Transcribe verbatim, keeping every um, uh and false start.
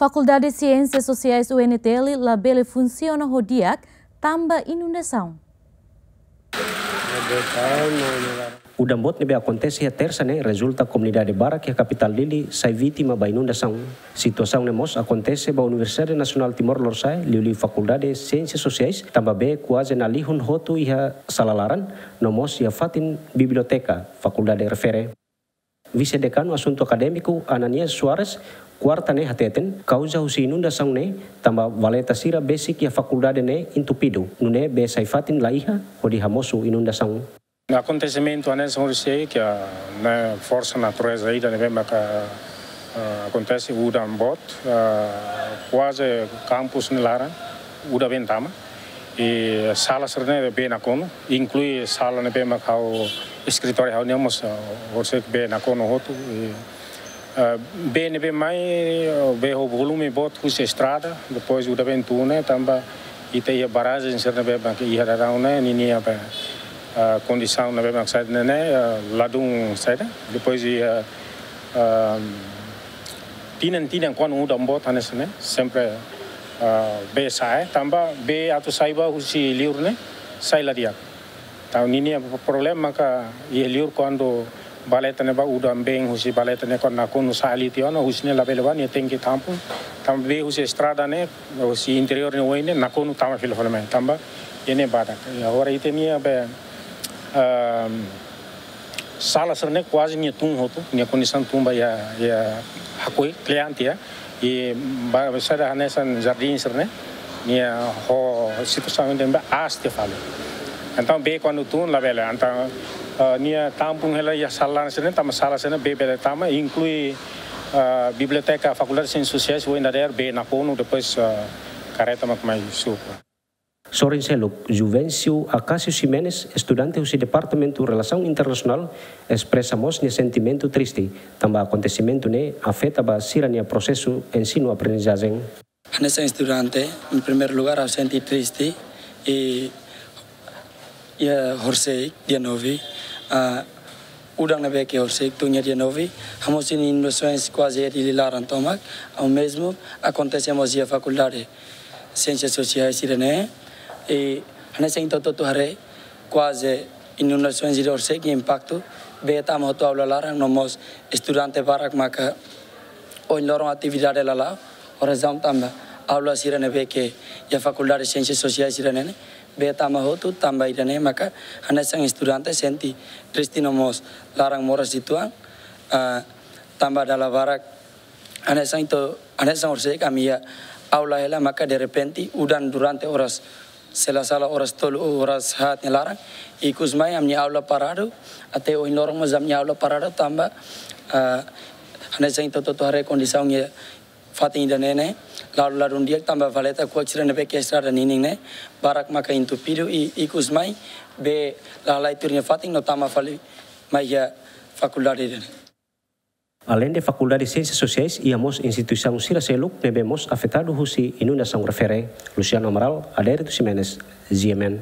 Fakuldade Siénsias Sosiais U N T L labele funsiona ho di'ak tanba inundasaun. Udan boot ne'ebé akontese iha Tersa ne'e rezulta komunidade barak iha kapitál Dili sai vítima ba inundasaun. Situasaun ne'e mós akontese ba Universidade Nasionál Timor Lorosa'e, liuliu Fakuldade Siénsias Sosiais, tanba bee kuaze nalihun hotu iha sala laran, no mós iha fatin biblioteka fakuldade refere. Vise-Dekanu Asuntu Akadémiku Ananias Soares, Kuarta ne'e hateten, kauza husi inundasaun ne'e tanba valeta sira besik iha fakuldade ne'e entupidu, nune'e bee sai fatin la iha hodi hamosu inundasaun. Akontesimentu hanesan ohin sei ke ne'e forsa natureza ida ne'ebé maka, ah, akontese udan boot, ah, kuaze kampus nia laran udan been tama. I sala sira-ne'e bee nakonu, inklui sala ne'ebé mak ha'u eskritóriu ha'u-nian mós, ah, orsida bee nakonu hotu. I, ah, bee ne'ebé mai, ah, bee ho volume boot husi estrada, depois udan been tun ne'e, tanba ita iha barrajen sira ne'ebé mak iha daudaun ne'e, ninia be, ah, kondisaun ne'ebé mak saida ne'e, ah, ladún saida. Depois iha, ah, tinan-tinan kuandu udan boot hanesan ne'e, sempre, ah, bee sa'e, tanba bee atu sai ba husi liur ne'e, sai la di'ak. Entaun ninia problema maka iha liur kuandu valeta ne'e ba udan been husi valeta ne'e kuandu nakonu sa'e liu tiha ona, husi ne'e labele ba nia tenke tampung, tanba bee husi estrada ne'e, husi interiór ne'e oin ne'e, nakonu tama fila fali mai, tanba iha ne'e badak. I agora ita-nia be, ehm, sala sira-ne'e kuaze nia tun hotu, nia kondisaun tun ba iha, iha hakoi kle'an tiha, i ba, saida hanesan jardín sira-ne'e, nia ho situasaun ida ne'ebé aas tiha fali. Entaun bee kuandu tun labele, entaun, eh, nia tampung hela iha sala sira-ne'e, tanba sala sira-ne'e bee bele tama, inklui, eh, biblioteka Fakuldade Siénsias Sosiais, ohin dadeer bee nakonu, depois, eh, karreta mak mai suku. Sorin seluk, Juvencio Acacio Ximenes, estudante husi Departamentu Relasaun Internasionál, espresa mós nia sentimentu triste, tanba akontesimentu ne'e afeta ba sira-nia prosesu ensinu-aprendizajen. Hanesan estudante, em primeiro lugar, ha'u sente triste i, i, eh, horisehik dia nove, ah, udan ne'ebé ke horisehik tun iha dia nove, hamosu inundasaun kuaze iha Dili laran tomak, omezmu akontese mós iha Fakuldade Siénsias Sosiais sira-ne'e, i hanesan ita hotu-hotu haree, kuaze inundasaun sira horisehik impaktu, bee tama hotu aula laran, no mós estudante barak maka ohin loron atividade la la'o, ho razaun tanba aula sira ne'ebé ke iha Fakuldade Siénsias Sosiais sira-ne'e, bee tama hotu, tanba ida-ne'e maka hanesan estudante sente triste no mós laran moras uitoan, ah, tanba dala barak hanesan ita, hanesan orsida ami iha aula hela maka derrepente udan durante oras, se la sala oras tolu ou oras haat nia laran, ikus mai ami-nia aula paradu, até ohin loron mós ami-nia aula paradu tanba, ah, hanesan ita hotu-hotu haree kondisaun iha fatin ida-ne'e ne'e, la'o ladún di'ak tanba valeta kuak sira ne'ebé ke estrada ninin ne'e, barak maka entupidu i ikus mai, bee la halai tuir nia fatin no tama fali mai iha fakuldade ida-ne'e. Aleinde Fakuldade Siénsias Sosiais, iha mós instituisaun sira seluk ne'ebé mós afetadu husi inundasaun refere. Luciano Amaral, Adérito Ximenes, G M N.